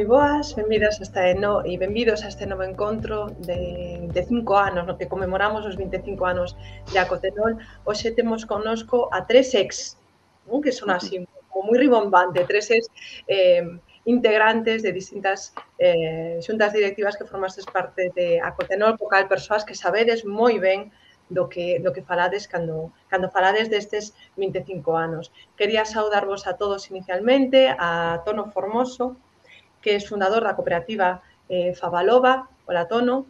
moi boas, benvidas e benvidos a este novo encontro de 5 anos, no que conmemoramos os 25 anos de Acotenol. Hoxe temos connosco a tres ex, non? Que son así como moi rimbombante, tres ex integrantes de distintas xuntas directivas que formastes parte de Acotenol, co cal persoas que sabedes moi ben do que falades cando falades destes 25 anos. Quería saudarvos a todos inicialmente, a Tono Formoso, que é fundador da cooperativa Favalova. Hola, Tono.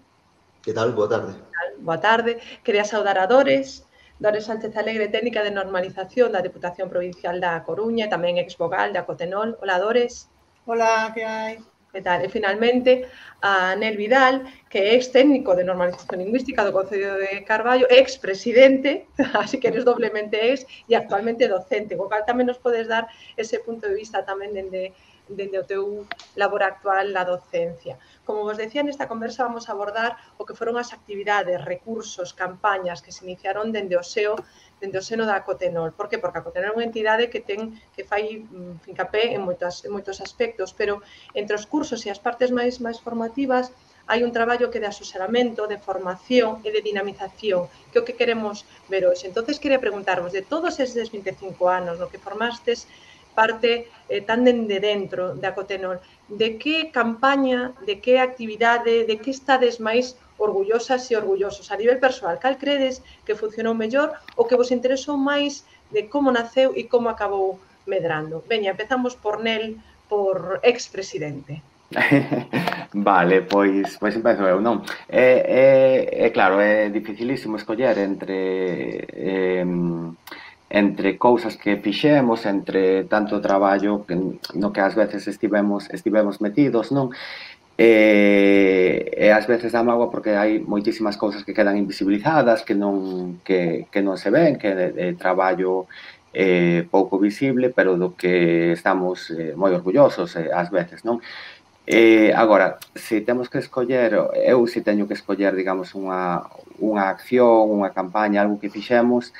Que tal? Boa tarde. Boa tarde. Quería saudar a Dores Sánchez Alegre, técnica de normalización da Deputación Provincial da Coruña, tamén exvogal da Acotenol. Hola, Dores. Hola, que hai? Que tal? E finalmente a Nel Vidal, que é ex técnico de normalización lingüística do Concello de Carballo, ex presidente, así que eres doblemente ex, e actualmente docente, co cal tamén nos podes dar ese punto de vista tamén dende o teu labor actual na docencia. Como vos decía, nesta conversa vamos a abordar o que foron as actividades, recursos, campañas que se iniciaron dende o seno da Acotenol. Por que? Porque a Acotenol é unha entidade que fai fincapé en moitos aspectos, pero entre os cursos e as partes máis formativas hai un traballo que de asesoramento, de formación e de dinamización, que é o que queremos ver hoxe. Entonces, quería preguntarvos, de todos estes 25 anos no que formastes parte tan dende dentro da Acotenol, de que campaña, de que actividade, de que estades máis orgullosas e orgullosos a nivel persoal? Cal credes que funcionou mellor ou que vos interesou máis de como naceu e como acabou medrando? Veña, empezamos por Nel, por ex-presidente. Vale, pois empezo eu, non? Claro, é dificilísimo escoller entre cousas que fixemos, entre tanto traballo no que ás veces estivemos metidos, non? E ás veces dá mágoa porque hai moitísimas cousas que quedan invisibilizadas, que non se ven, que é traballo pouco visible, pero do que estamos moi orgullosos ás veces, non? Agora, se temos que escoller, eu se teño que escoller, digamos, unha acción, unha campaña, algo que fixemos,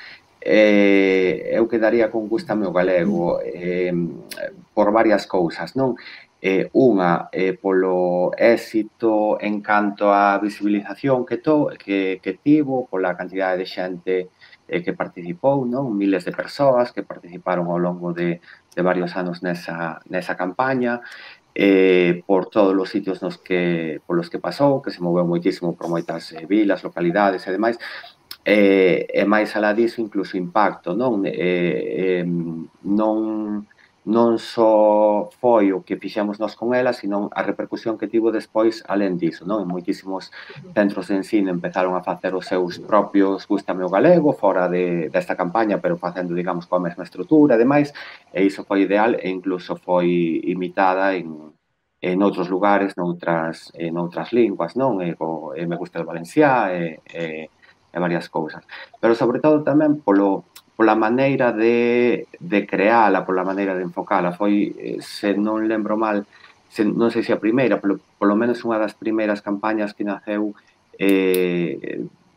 eu quedaría con Gústame o Galego por varias cousas, non? Unha, polo éxito en canto á visibilización que tivo, pola cantidade de xente que participou, non? Miles de persoas que participaron ao longo de varios anos nesa campaña, por todos os sitios polos que pasou, que se moveu moitísimo por moitas vilas, localidades e demais, e máis alá disso incluso impacto, non? Non só foi o que fixemos nós con ela, sino a repercusión que tivo despois alén disso, non? En moitísimos centros de ensino empezaron a facer os seus propios Gústame o Galego fora desta campaña, pero facendo, digamos, coa mesma estrutura e demais, e iso foi ideal e incluso foi imitada en outros lugares, noutras linguas, non? Me gusta o valenciá e varias cousas. Pero, sobre todo, tamén pola maneira de creala, pola maneira de enfocala. Foi, se non lembro mal, non sei se a primeira, polo menos unha das primeiras campañas que naceu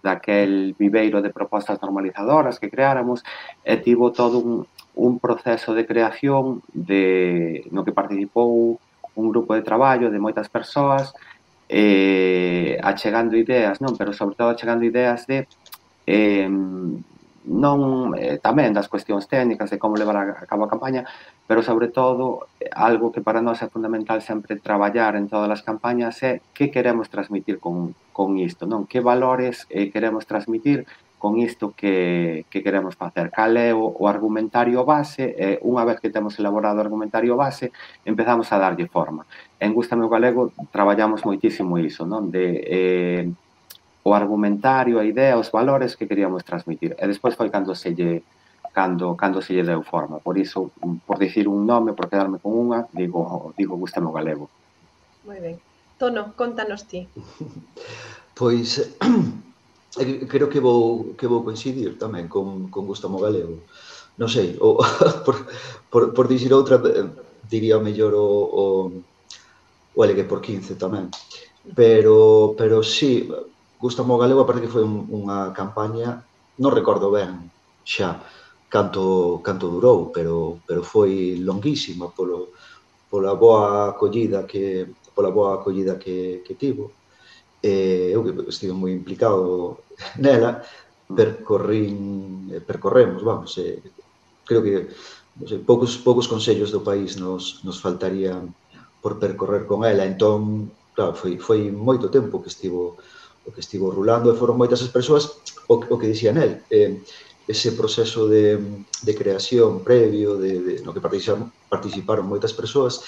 daquel viveiro de propostas normalizadoras que creáramos, e tivo todo un proceso de creación no que participou un grupo de traballo de moitas persoas, achegando ideas, non? Pero sobre todo achegando ideas de non tamén das cuestións técnicas de como levar a cabo a campaña, pero sobre todo algo que para nós é fundamental sempre traballar en todas as campañas é que queremos transmitir con isto, non? Que valores queremos transmitir con isto que queremos facer, cal é o argumentario base, e unha vez que temos elaborado o argumentario base, empezamos a darlle forma. En Gústame o Galego traballamos moitísimo iso, non? O argumentario, a idea, os valores que queríamos transmitir, e despois foi cando se lle deu forma. Por iso, por dicir un nome, por quedarme con unha, digo Gústame o Galego. Moi ben. Tono, contanos ti. Pois creo que vou coincidir tamén con Gústame o Galego. Non sei, por dicir outra, diría mellor o LG por 15 tamén. Pero sí, Gústame o Galego, aparte que foi unha campaña, non recordo ben xa canto durou, pero foi longuísima pola boa acollida que tivo. Eu que estive moi implicado nela, percorremos, vamos, creo que non sei, poucos consellos do país nos faltarían por percorrer con ela, entón, claro, foi moito tempo que estivo rulando e foron moitas as persoas, o que dicía nel, ese proceso de creación previo, no que participaron moitas persoas,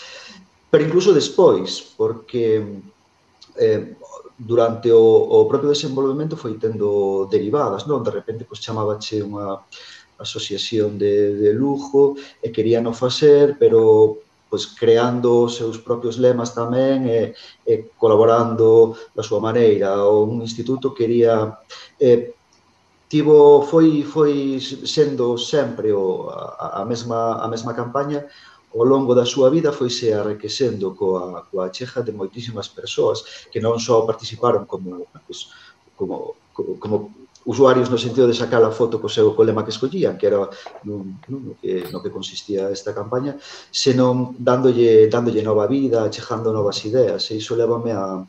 pero incluso despois, porque durante o propio desenvolvemento foi tendo derivadas, non? De repente, pois, chamábache unha asociación de lujo e querían o facer, pero pois creando os seus propios lemas tamén e colaborando da súa maneira. Un instituto quería foi sendo sempre a mesma campaña ao longo da súa vida, foise arrequecendo coa chega de moitísimas persoas que non só participaron como usuarios no sentido de sacar a foto co lema que escollían, que era no que consistía esta campaña, senón dándolle nova vida, chegando novas ideas, e iso lévame a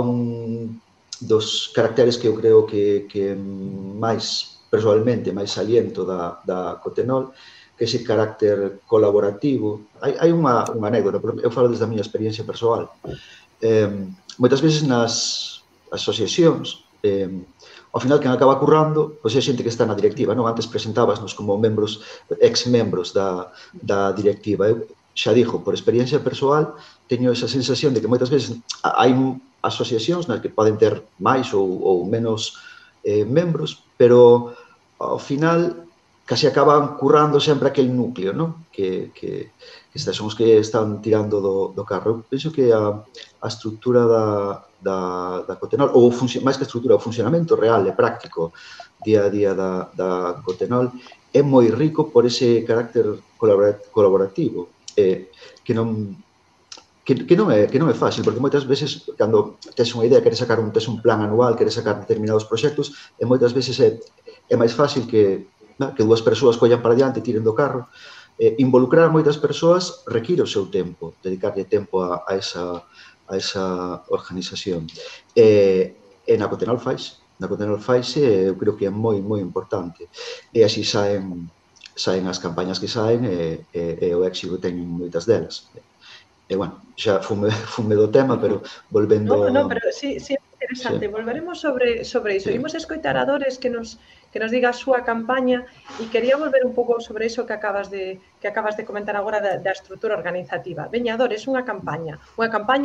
un dos caracteres que eu creo que máis, persoalmente, máis saliento da Cotenol, que ese carácter colaborativo. Hai unha anécdota, eu falo desde a miña experiencia persoal. Moitas veces nas asociacións, ao final, quen acaba currando, pois é xente que está na directiva, non? Antes presentábasnos como membros, ex-membros da directiva. Eu xa dixo, por experiencia persoal, teño esa sensación de que moitas veces hai asociacións nas que poden ter máis ou menos membros, pero ao final casi acaban currando sempre aquel núcleo, non? Que son os que están tirando do carro. Eu penso que a estrutura da Cotenol, ou máis que a estrutura, o funcionamento real e práctico día a día da Cotenol é moi rico por ese carácter colaborativo, que non é fácil, porque moitas veces, cando tes unha idea, tes un plan anual, queres sacar determinados proxectos, e moitas veces é máis fácil que dúas persoas collan para diante e tiren do carro. Involucrar a moitas persoas require o seu tempo, dedicarlle tempo a esa organización. E na Cotenol faise, eu creo que é moi importante. E así saen as campañas que saen e o éxito teñen moitas delas. E, bueno, xa fume do tema, pero volvendo... No, pero sí, é interesante. Sí. Volveremos sobre iso. Sí. Imos escoitar a Dores que nos diga a súa campaña e quería volver un pouco sobre iso que acabas de comentar agora da estrutura organizativa. Veña, Dores, unha campaña,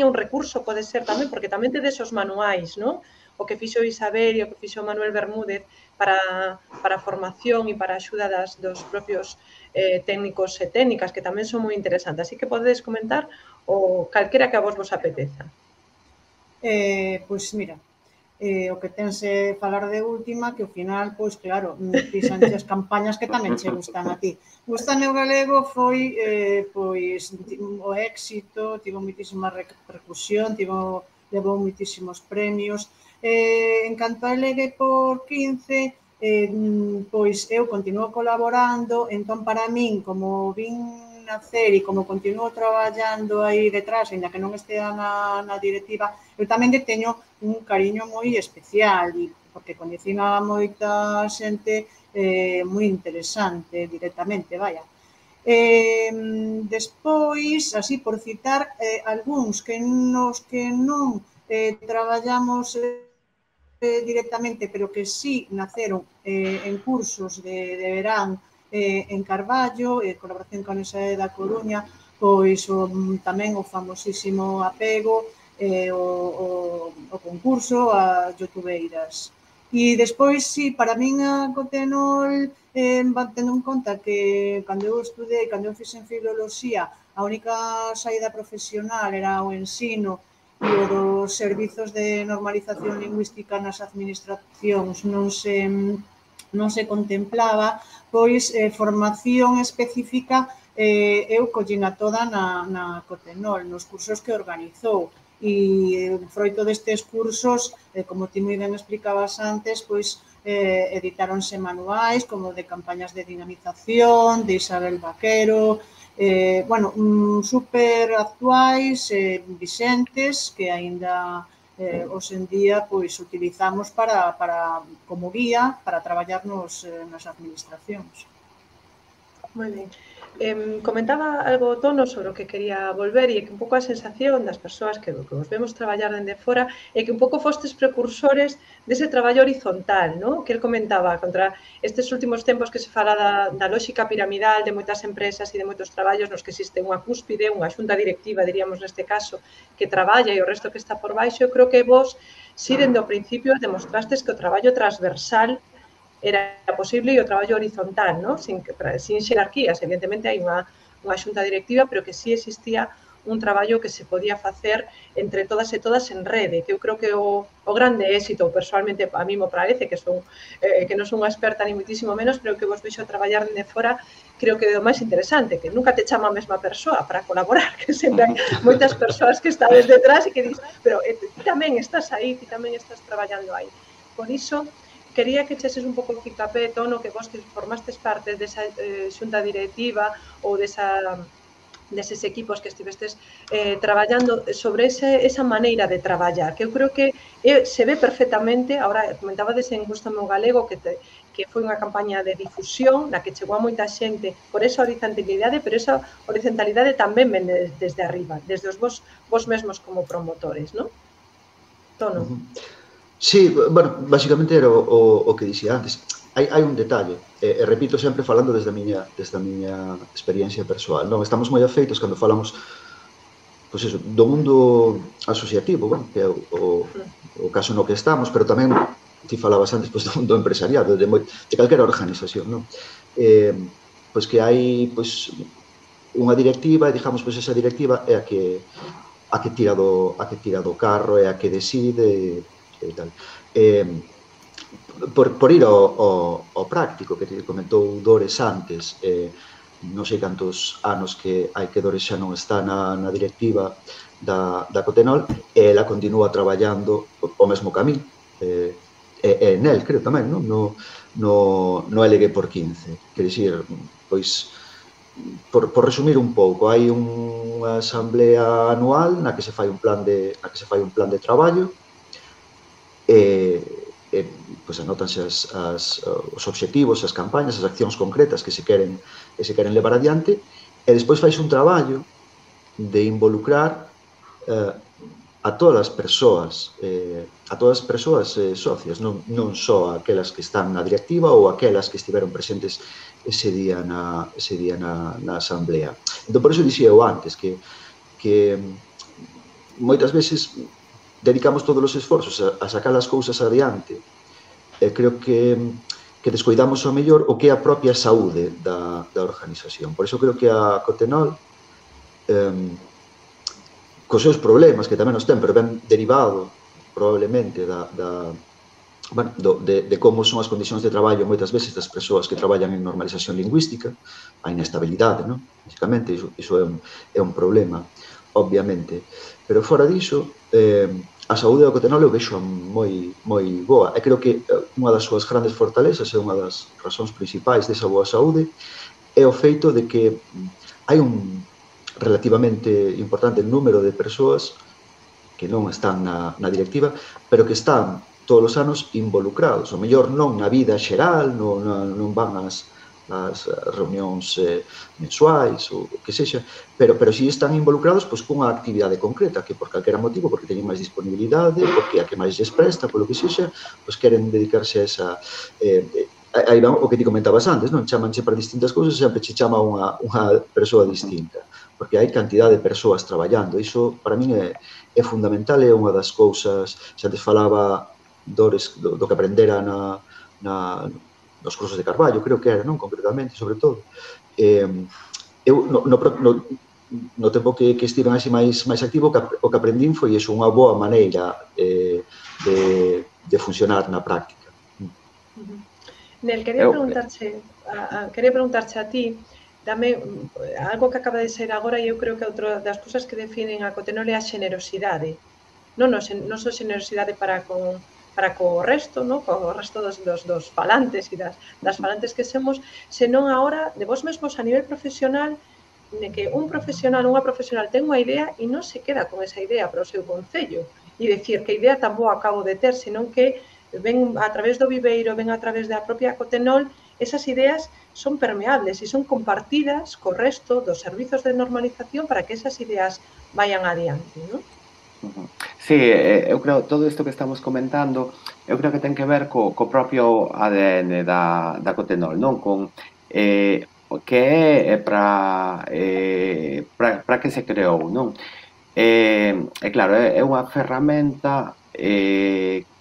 un recurso pode ser tamén, porque tamén tedes os manuais, non? O que fixo Isabel e o que fixo Manuel Bermúdez para a formación e para a axuda dos propios técnicos e técnicas, que tamén son moi interesantes. Así que podedes comentar o calquera que a vos apeteza. Pois mira, o que tense falar de última, que ao final, pois claro, fixanche as campañas que tamén che gustan a ti. Gustame o galego foi pois o éxito, tivo moitísima repercusión, levou moitísimos premios. En canto a Legue por 15, pois eu continuo colaborando, entón para min, como vin nacer e como continuo traballando aí detrás, ainda que non estea na directiva, eu tamén que teño un cariño moi especial, porque coñecín a moita xente moi interesante directamente, vaya. Despois, así por citar algúns que non traballamos directamente, pero que sí naceron en cursos de verán en Carballo, colaboración con esa da Coruña, pois tamén o famosísimo Apego, o concurso, a youtubeiras. E despois, sí, para min a Cotenol, tendo en conta que cando eu estudei, cando eu fixen filoloxía, a única saída profesional era o ensino e o dos servizos de normalización lingüística nas administracións non se contemplaba, pois formación específica eu collina toda na Cotenol, nos cursos que organizou. E froito destes cursos, como ti moi ben explicabas antes, pois editáronse manuais como de campañas de dinamización, de Isabel Vaquero, super actuais, vixentes, que aínda hoxe en día utilizamos como guía para traballar nas administracións. Moi ben. Comentaba algo Tono sobre o que quería volver e que un pouco a sensación das persoas que vos vemos traballar dende fora é que un pouco fostes precursores dese traballo horizontal, non? Que el comentaba contra estes últimos tempos que se fala da lógica piramidal de moitas empresas e de moitos traballos nos que existe unha cúspide, unha xunta directiva, diríamos neste caso, que traballa e o resto que está por baixo. Eu creo que vos, si dende o principio, demostrastes que o traballo transversal era posible e o traballo horizontal, ¿no? sin xerarquías. Evidentemente hai unha xunta directiva, pero que sí existía un traballo que se podía facer entre todas e todas en rede, que eu creo que o grande éxito, personalmente a mí me parece, que non son unha experta ni muitísimo menos, pero que vos vexo traballar dende fora, creo que é o máis interesante, que nunca te chama a mesma persoa para colaborar, que sempre hai moitas persoas que estades detrás e que dis, pero ti tamén estás aí, ti tamén estás traballando aí. Por iso, quería que echeses un pouco o fincapé, Tono, que vos que formastes parte desa xunta directiva ou deses equipos que estivestes traballando sobre esa maneira de traballar, que eu creo que se ve perfectamente. Agora, comentabades en Gústame o Galego que foi unha campaña de difusión na que chegou a moita xente por esa horizontalidade, pero esa horizontalidade tamén ven desde arriba, desde os vos mesmos como promotores, non? Tono. Sí, bueno, basicamente era o que dixía antes. Hai un detalle, e repito sempre falando desde a miña experiencia persoal. Non, estamos moi afeitos cando falamos do mundo asociativo, bueno, que é o caso no que estamos, pero tamén ti falabas antes do mundo empresariado, de calquera organización, non? Pois que hai unha directiva, e digamos, esa directiva é a que tira do carro, é a que decide e tal. Por ir ao práctico, que te comentou Dores antes, non sei cantos anos que hai que Dores xa non está na directiva da Cotenol, e ela continúa traballando o mesmo camín, e nel, creo tamén, no LG por 15. Quer dicir, pois, por resumir un pouco, hai unha asamblea anual na que se fai un plan de traballo, pois anótanse os obxectivos, as campañas, as accións concretas que se queren levar adiante, e despois fais un traballo de involucrar a todas as persoas socias, non só aquelas que están na directiva ou aquelas que estiveron presentes ese día na asamblea. Entón, por iso dixía eu antes que moitas veces dedicamos todos os esforzos a sacar as cousas adiante, e creo que descoidamos ao mellor o que é a propia saúde da organización. Por iso creo que a Cotenol, cos seus problemas, que tamén os ten, pero ben derivado probablemente de como son as condicións de traballo moitas veces das persoas que traballan en normalización lingüística, a inestabilidade, non? Basicamente, iso é un problema, obviamente. Pero fora diso, a saúde da Cotenol eu vexo moi boa, e creo que unha das súas grandes fortalezas e unha das razóns principais desa boa saúde é o feito de que hai un relativamente importante número de persoas que non están na directiva, pero que están todos os anos involucrados, ou mellor non na vida xeral, non van ás reunións mensuais ou o que sexa, pero si están involucrados cunha actividade concreta, que por calquera motivo, porque teñen máis disponibilidade, porque a que máis lles presta, polo que sexa, queren dedicarse a esa... Aí va o que ti comentabas antes, non? Chamanche para distintas cousas, sempre che chama unha persoa distinta, porque hai cantidad de persoas traballando. Iso, para min, é fundamental, é unha das cousas, xa antes falaba Dores do que aprendera nos cursos de Carballo, creo que era, non? Concretamente, sobre todo. Eu, no tempo que estiven así máis activo, o que aprendín foi iso, unha boa maneira de funcionar na práctica. Nel, quería preguntarche a ti, dame algo que acaba de ser agora, e eu creo que outra das cousas que definen a Cotenol é a xenerosidade. Non só xenerosidade para co resto, co resto dos falantes e das falantes que somos, senón agora de vos mesmos a nivel profesional, de que un profesional, unha profesional ten unha idea e non se queda con esa idea para o seu concello e decir que idea tan boa acabo de ter, senón que ven a través do viveiro, ven a través da propia Cotenol, esas ideas son permeables e son compartidas co resto dos servizos de normalización para que esas ideas vayan adiante, non? Sí, eu creo todo isto que estamos comentando, eu creo que ten que ver co propio ADN da Cotenol, non? Con o que é para que se creou, non? Claro, é unha ferramenta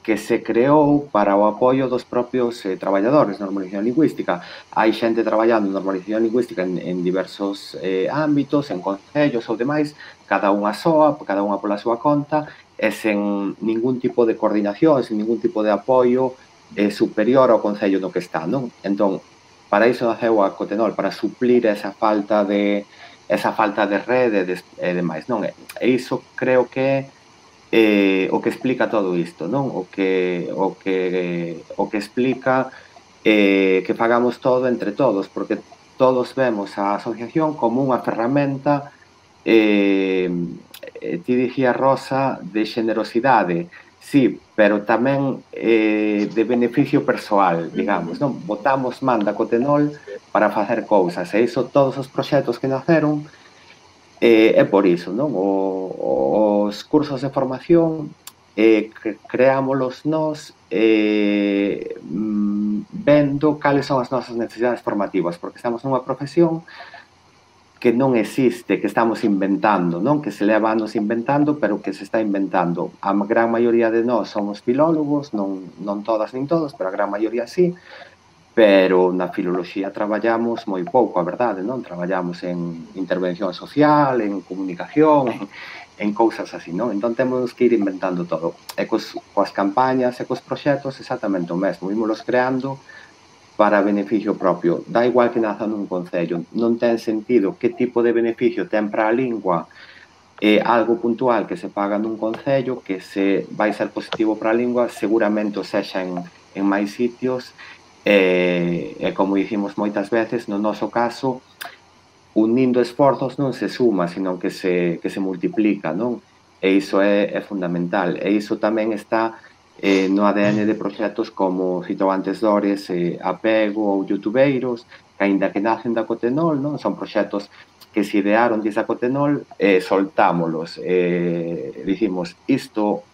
que se creou para o apoio dos propios traballadores de normalización lingüística. Hai xente traballando en normalización lingüística en diversos ámbitos, en concellos ou demais, cada unha soa, cada unha pola súa conta, e sen ningún tipo de coordinación, sen ningún tipo de apoio superior ao concello no que está, non? Entón, para iso naceu a Cotenol, para suplir esa falta de rede e demais, non? E iso creo que o que explica todo isto, non? O que explica que fagamos todo entre todos, porque todos vemos a asociación como unha ferramenta ti dicía Rosa de xenerosidade, sí, pero tamén de beneficio persoal, digamos, non? Botamos man da Cotenol para facer cousas, e iso todos os proxectos que naceron é por iso, non? Os cursos de formación creámolos nós vendo cales son as nosas necesidades formativas, porque estamos nunha profesión que non existe, que estamos inventando, non? Que se leva anos inventando, pero que se está inventando. A gran maioría de nós somos filólogos, non todas nin todos, pero a gran maioría sí, pero na filoloxía traballamos moi pouco, a verdade, non? Traballamos en intervención social, en comunicación, en cousas así, non? Entón temos que ir inventando todo. E coas campañas e cos proxectos exactamente o mesmo, ímolos creando para beneficio propio. Da igual que naza nun concello, non ten sentido que tipo de beneficio ten para a lingua algo puntual que se paga nun concello, que se vai ser positivo para a lingua, seguramente o sexa en máis sitios, e como dicimos moitas veces, no noso caso, unindo esforzos non se suma, sino que se multiplica, non? E iso é fundamental. E iso tamén está no ADN de proxectos como citou antes Dores, Apego ou Youtubeiros, que aínda que nacen da Cotenol, non? Son proxectos que se idearon desde a Cotenol, soltámolos. Dicimos, isto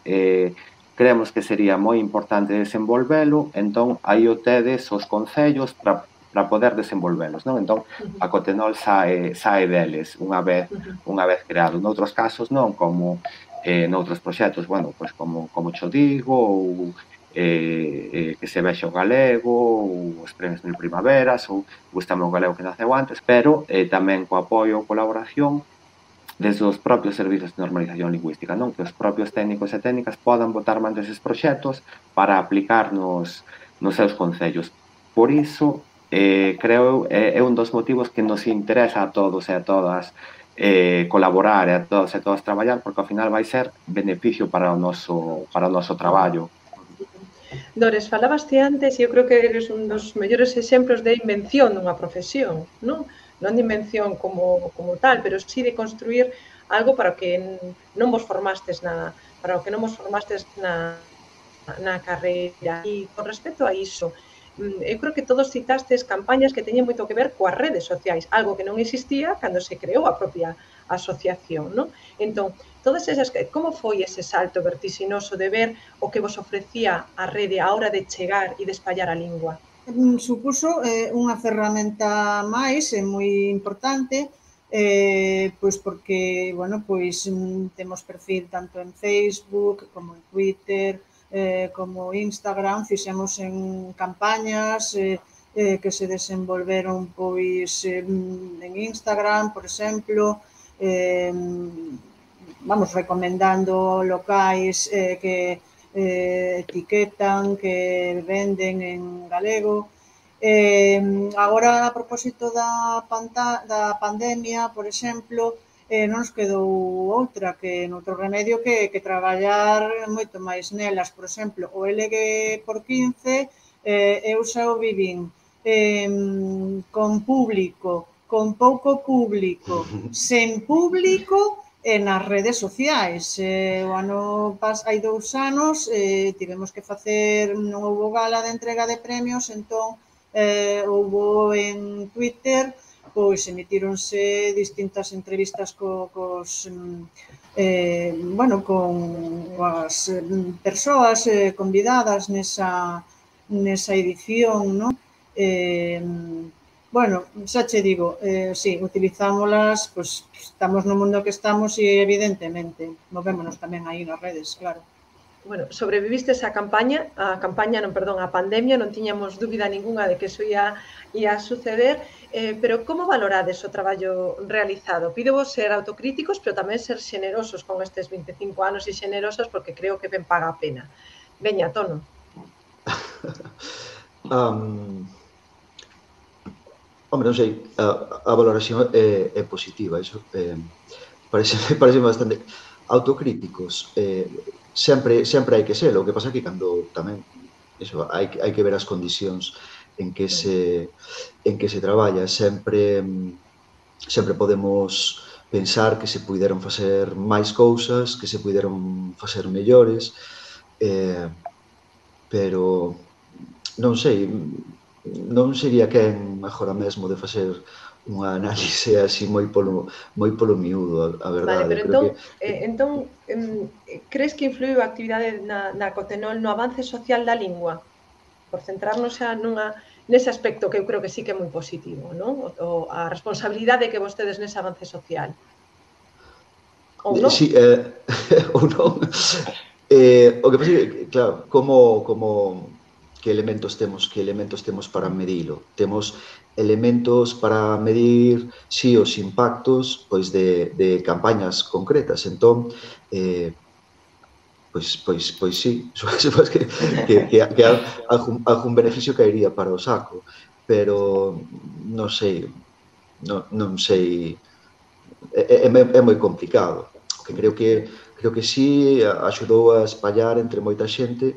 creemos que sería moi importante desenvolvelo, entón aí o tedes os concellos para poder desenvolvelos, non? Entón, a Cotenol sae deles unha vez creado. Noutros casos non, como noutros proxectos, bueno, pois como cho digo, ou que se vexe o galego, ou os premios Mil Primaveras, ou gustame o galego que naceu antes, pero tamén co apoio ou colaboración desde os propios servizos de normalización lingüística, non? Que os propios técnicos e técnicas podan botar man deses proxectos para aplicar nos seus concellos. Por iso, creo é un dos motivos que nos interesa a todos e a todas colaborar e a todos e todas traballar, porque ao final vai ser beneficio para o noso traballo. Dores, falabaste antes e eu creo que eres un dos mellores exemplos de invención dunha profesión, non? Non de invención como tal, pero sí de construir algo para o que non vos formastes na carreira. E con respecto a iso, eu creo que todos citastes campañas que teñen moito que ver coas redes sociais, algo que non existía cando se creou a propia asociación, non? Entón, todas esas, como foi ese salto vertixinoso de ver o que vos ofrecía a rede a hora de chegar e de espallar a lingua? Supuso unha ferramenta máis moi importante, pois porque, bueno, pois temos perfil tanto en Facebook como en Twitter, como Instagram, fixemos en campañas que se desenvolveron pois en Instagram, por exemplo, vamos recomendando locais que etiquetan, que venden en galego. Agora, a propósito da pandemia, por exemplo, non nos quedou outra que noutro remedio que traballar moito máis nelas. Por exemplo, o LG por 15 eu xa o vivín con público con pouco público, sen público e nas redes sociais. Hai 2 anos tivemos que facer, non houbo gala de entrega de premios, entón houbo en Twitter, pois emitíronse distintas entrevistas cos as persoas convidadas nesa edición, non? Xa che digo, sí, utilizámolas, pois estamos no mundo que estamos e evidentemente movémonos tamén aí nas redes, claro. Bueno, sobreviviste a pandemia, non tiñamos dúbida ninguna de que eso ia suceder, pero como valorades o traballo realizado? Pídevos ser autocríticos, pero tamén ser xenerosos con estes 25 anos e xenerosos porque creo que ben paga a pena. Veña, Tono. Hombre, non sei, a valoración é positiva, iso parece bastante autocríticos. Sempre hai que ser, o que pasa que cando tamén iso, hai que ver as condicións en que se traballa. Sempre podemos pensar que se puideron facer máis cousas, que se puideron facer mellores, pero non sei, non sería quen agora mesmo de facer unha análise así moi polo miúdo, a verdade. Vale, pero entón, crees que influiu a actividade na Cotenol no avance social da lingua? Por centrarnos xa nese aspecto que eu creo que sí que é moi positivo, non? A responsabilidade que vostedes nese avance social. Ou non? Sí, ou non. O que pasa é que, claro, que elementos temos para medilo? Temos elementos para medir, si, os impactos pois de campañas concretas. Entón, pois sí, supos que algún beneficio caería para o saco, pero non sei, é moi complicado. O que creo que sí axudou a espallar entre moita xente,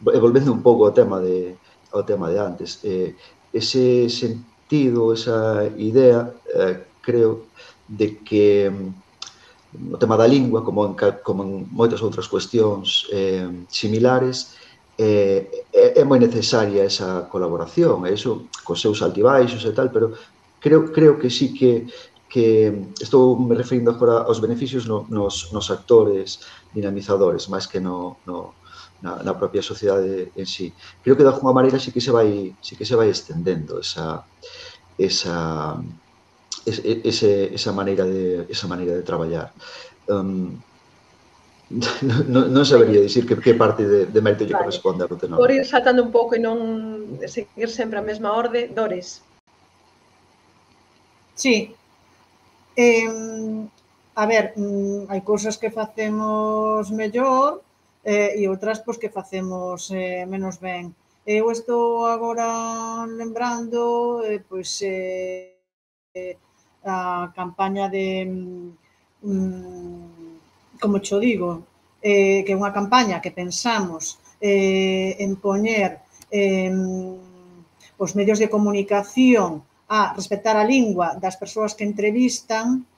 volvendo un pouco ao tema de antes, ese sentido, esa idea, creo, de que o tema da lingua, como en moitas outras cuestións similares, é moi necesaria esa colaboración, e iso, cos seus altibaixos e tal, pero creo que sí que estou me referindo agora aos beneficios nos actores dinamizadores, máis que na propia sociedade en sí. Creo que de alguma maneira sí que se vai estendendo esa maneira de traballar. Non sabería dicir que parte de mérito lle corresponde a Cotenol. Por ir saltando un pouco e non seguir sempre a mesma orde, Dores. Sí. A ver, hai cousas que facemos mellor e outras pois que facemos menos ben. Eu estou agora lembrando pois a campaña de como cho digo, que é unha campaña que pensamos en poñer os medios de comunicación a respetar a lingua das persoas que entrevistan.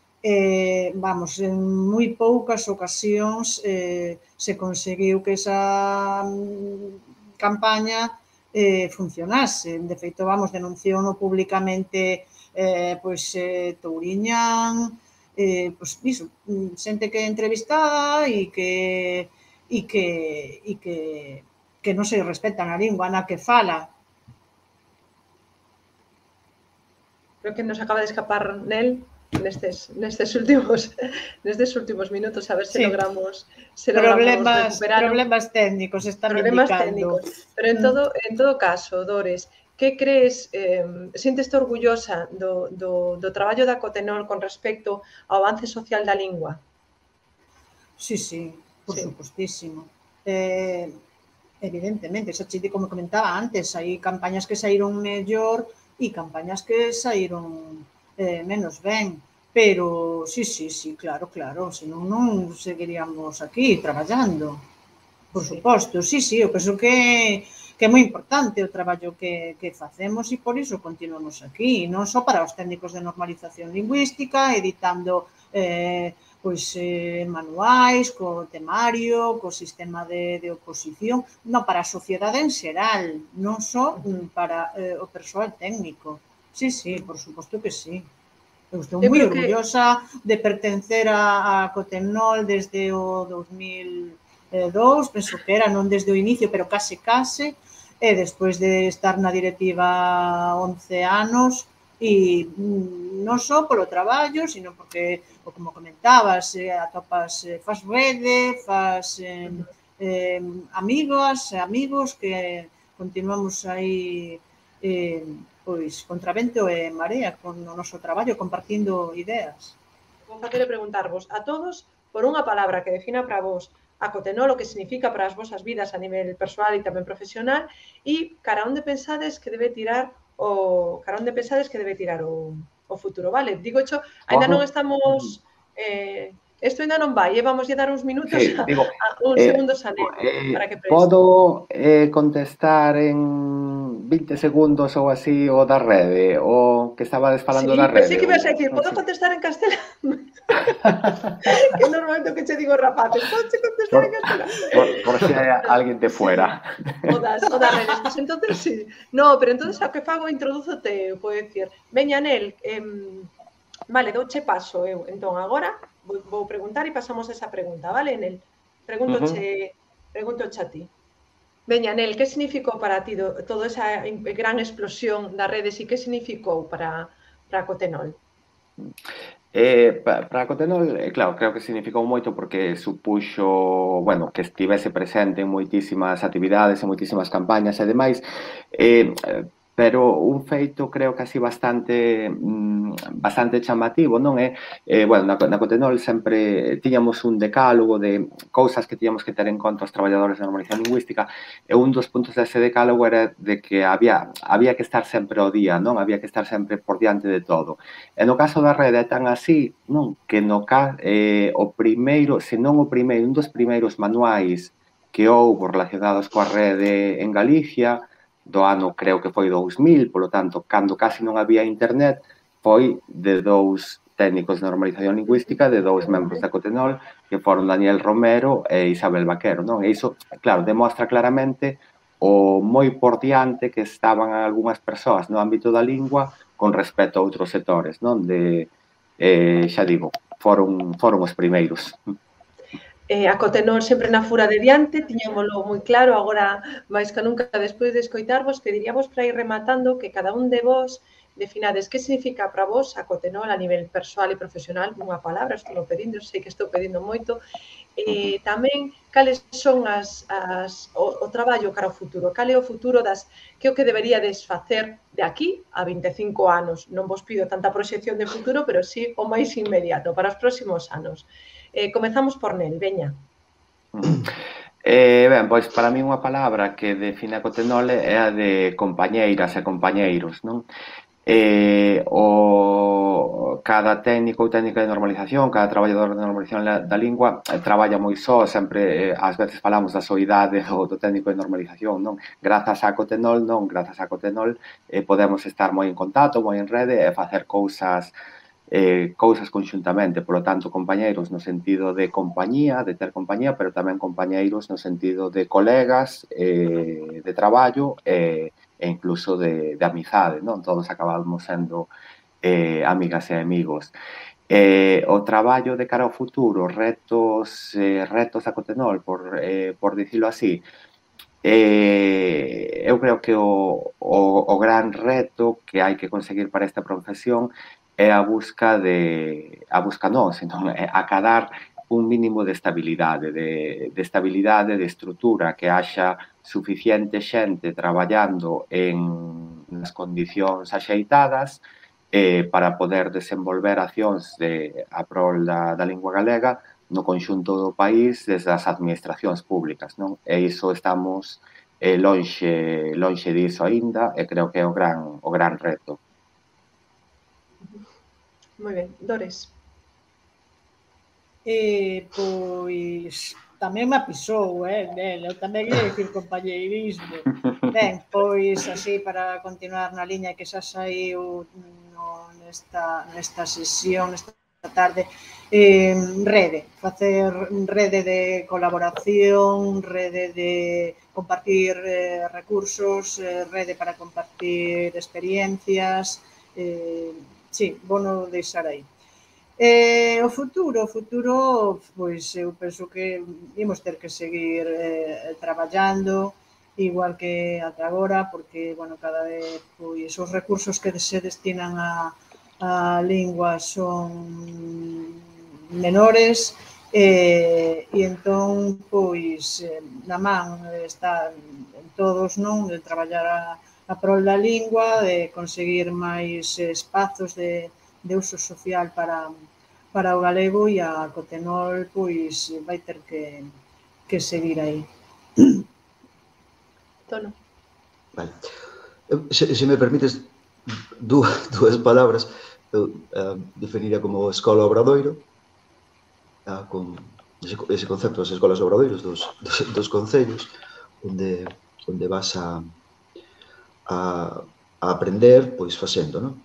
Vamos, en moi poucas ocasións se conseguiu que esa campaña funcionase. De feito, vamos, denunciouno públicamente Touriñán, pois iso, xente que é entrevistada e que non se respetan a lingua na que fala. Creo que nos acaba de escapar Nel nestes últimos minutos, a ver se logramos recuperar problemas técnicos están indicando. Pero en todo caso, Dores, que crees, sinteste orgullosa do traballo da Cotenol con respecto ao avance social da lingua? Sí, por supostísimo. Evidentemente, xa chite, como comentaba antes, hai campañas que saíron mellor e campañas que saíron menos ben, pero sí, claro, senón non seguiríamos aquí traballando, por suposto, sí, eu penso que que é moi importante o traballo que facemos e por iso continuamos aquí, non só para os técnicos de normalización lingüística, editando manuais, co temario, co sistema de oposición, non para a sociedade en xeral, non só para o persoal técnico. Sí, por suposto que sí. Eu estou moi orgullosa de pertencer a Cotenol desde o 2002, penso que era, non desde o inicio, pero case, e despois de estar na directiva 11 anos, e non só polo traballo, sino porque, como comentabas, atopas, faz rede, faz amigas, amigos que continuamos aí pois contra vento e marea con o noso traballo, compartindo ideas. Vou facer preguntarvos a todos por unha palabra que defina para vos a Cotenol, o que significa para as vosas vidas a nivel persoal e tamén profesional, e cara onde pensades que debe tirar o futuro, vale? Digo xo, ainda non estamos isto ainda non vai, vamos a dar uns minutos uns segundos a Nel para que pense. Podo contestar en 20 segundos ou así o da rede, o que estabades falando da rede. Sí, pensei que ibas a decir, podo contestar en castelán? Que normalmente o que che digo rapaces, podes contestar en castelán? Por si hai alguén de fuera. O das redes, pues entonces sí. No, pero entonces ao que fago introdúzote, podo dicir, veña Nel, vale, douche paso eu, entón agora vou preguntar e pasamos esa pregunta, vale, Nel? Preguntoche a ti. Veña, Nel, que significou para ti toda esa gran explosión das redes e que significou para Cotenol? Para Cotenol, claro, creo que significou moito porque supuxo, bueno, que estivese presente en moitísimas actividades, en moitísimas campañas e demais, pero un feito creo que así bastante chamativo, non é? Bueno, na Cotenol sempre tiñamos un decálogo de cousas que tiñamos que ter en conta os traballadores de normalización lingüística e un dos puntos dese decálogo era de que había que estar sempre ao día, non? Había que estar sempre por diante de todo. E no caso da rede é tan así, non? Que o primeiro, se non o primeiro, un dos primeiros manuais que houbo relacionados coa rede en Galicia, do ano creo que foi 2000, polo tanto, cando casi non había internet, foi de dous técnicos de normalización lingüística, de dous membros da Cotenol, que foron Daniel Romero e Isabel Vaquero, non? E iso, claro, demostra claramente o moi por diante que estaban algunhas persoas no ámbito da lingua con respecto a outros sectores, non? Xa digo, foron os primeiros. A Cotenol sempre na fura de diante, tiñámolo moi claro, agora máis que nunca despois de escoitarvos, pediríamos para ir rematando que cada un de vos definades que significa para vos a Cotenol a nivel persoal e profesional, unha palabra, estou pedindo, sei que estou pedindo moito, tamén cales son o traballo cara ao futuro, cal é o futuro que é o que deberíades facer de aquí a 25 anos. Non vos pido tanta proxección de futuro, pero sí o máis inmediato, para os próximos anos. Comezamos por Nel, veña. Ben, pois para mí unha palabra que define a Cotenol é a de compañeiras e compañeiros, non? Cada técnico ou técnica de normalización, cada traballador de normalización da lingua traballa moi só, sempre ás veces falamos da soidade do técnico de normalización, non? Grazas a Cotenol, podemos estar moi en contacto, moi en rede e facer cousas conxuntamente, polo tanto, compañeiros no sentido de compañía, de ter compañía, pero tamén compañeiros no sentido de colegas, de traballo e incluso de amizade, non? Todos acabamos sendo amigas e amigos. O traballo de cara ao futuro, retos a Cotenol, por dicilo así, eu creo que o gran reto que hai que conseguir para esta profesión é a busca non, senón acadar un mínimo de estabilidade, de estrutura, que haxa suficiente xente traballando nas condicións axeitadas para poder desenvolver accións a prol da lingua galega no conxunto do país desde as administracións públicas, non? E iso estamos lonxe diso aínda e creo que é o gran reto. Moi ben, Dores. Pois tamén me apisou, eu tamén ia dicir compañeirismo. Ben, pois así para continuar na liña que xa saiu nesta sesión, nesta tarde, facer rede de colaboración, rede de compartir recursos, rede para compartir experiencias, sí, vou deixar aí. O futuro, pois eu penso que imos ter que seguir traballando igual que ata agora, porque, bueno, cada vez pois os recursos que se destinan a lingua son menores e entón, pois, na man está en todos, non, de traballar a prol da lingua, de conseguir máis espazos de uso social para o galego e a Cotenol, pois, vai ter que seguir aí. Tono. Vale. Se me permites dúas palabras, eu definiría como escola obradoiro, con ese concepto das escolas obradoiros dos concellos, onde vas a aprender, pois, facendo, non?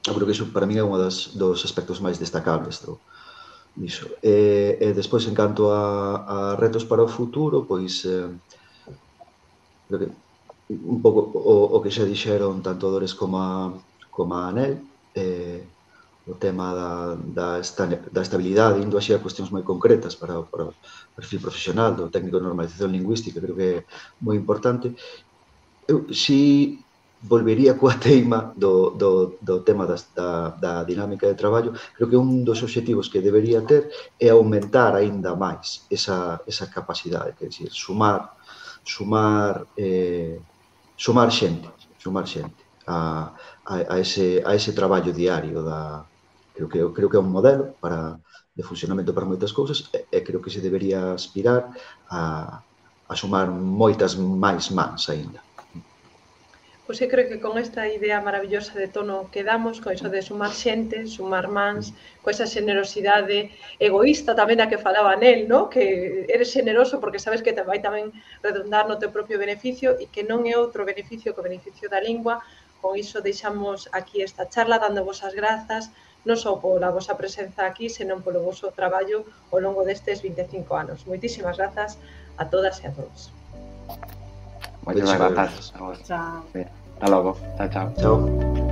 Eu creo que iso para min é un dos aspectos máis destacables diso. E despois, en canto a retos para o futuro, pois, creo que un pouco o que xa dixeron tanto Dores como a Anel, o tema da estabilidade, indo así a cuestións moi concretas para o perfil profesional do técnico de normalización lingüística, creo que é moi importante. Eu si volvería coa teima do tema da dinámica de traballo. Creo que un dos obxectivos que debería ter é aumentar aínda máis esa capacidade, quer dizer, sumar xente a ese traballo diario creo que é un modelo de funcionamento para moitas cousas e creo que se debería aspirar a sumar moitas máis mans aínda. Pois eu creo que con esta idea maravillosa de Tono quedamos, con iso de sumar xente, sumar mans, con esa xenerosidade egoísta tamén a que falaba Nel, no? Que eres xeneroso porque sabes que te vai tamén redundar no teu propio beneficio e que non é outro beneficio que o beneficio da lingua. Con iso deixamos aquí esta charla dando-vos as grazas, non só pola vosa presenza aquí, senón polo voso traballo ao longo destes 25 anos. Moitísimas grazas a todas e a todos. Moitísimas grazas a vos. Chao. Hasta logo. Chao, chao. Chao.